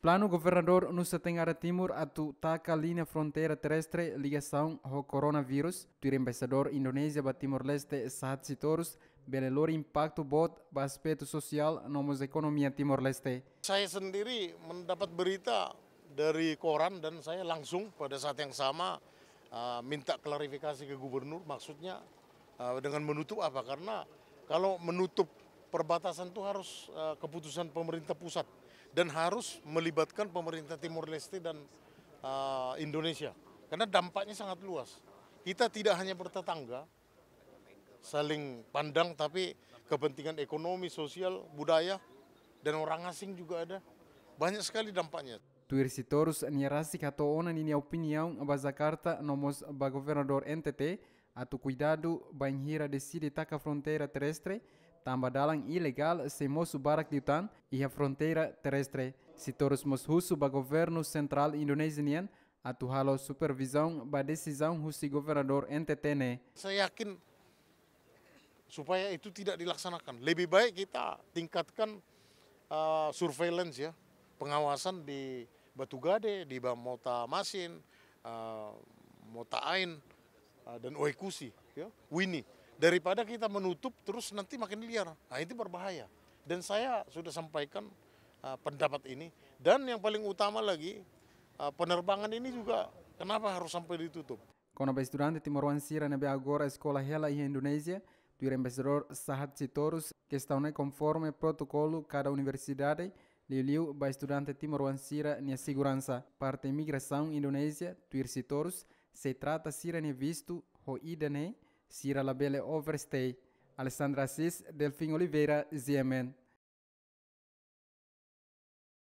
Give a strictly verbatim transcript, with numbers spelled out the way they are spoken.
Planu governadór nu'udar Timor atu taka liña fronteira terrestre ligasaun ho coronavírus, tuir embaixadór Indonézia ba Timor-Leste Sahat Sitorus, bele lori impaktu boot ba aspetu sosiál no mós ekonomia Timor-Leste. Saya sendiri mendapat berita dari koran dan saya langsung pada saat yang sama, uh, minta klarifikasi ke gubernur, maksudnya, uh, dengan menutup apa? Karena kalau menutup perbatasan itu harus, uh, keputusan pemerintah pusat dan harus melibatkan pemerintah Timor Leste dan, uh, Indonesia. Karena dampaknya sangat luas. Kita tidak hanya bertetangga, saling pandang, tapi kepentingan ekonomi, sosial, budaya, dan orang asing juga ada. Banyak sekali dampaknya. Tuir Sitorus, nia rasik hato'o ona ninia opiniaun ba Jakarta no mós ba governadór N T T atu kuidadu bainhira deside taka fronteira terrestre, tanba dalan ilegál sei mosu barak liután iha fronteira terrestre. Sitorus mós husu ba governu sentrál Indonézia nian atu halo supervizaun ba desizaun husi governadór N T T ne'e. Saya yakin supaya itu tidak dilaksanakan, lebih baik kita tingkatkan, uh, surveillance, ya, pengawasan di Batugade, di Ba-, Mota Masin, uh, Mota Ain, uh, dan Oekusi, ya, Wini. Daripada kita menutup terus nanti makin liar. Nah, itu berbahaya. Dan saya sudah sampaikan, uh, pendapat ini. Dan yang paling utama lagi, uh, penerbangan ini juga kenapa harus sampai ditutup? Kona-ba estudante timoroan sira ne'ebé agora eskola hela iha Indonézia, tuir embaixadór Sahat Sitorus, kestaun ne'e konforme protokolu kada universidade, liuliu ba estudante timoroan sira-nia seguransa. Parte imigrasaun Indonézia, tuir Sitorus, sei trata sira-nia vistu ho ida ne'e, sira labele overstay. Alessandra Assis, Delfim Oliveira, G M N.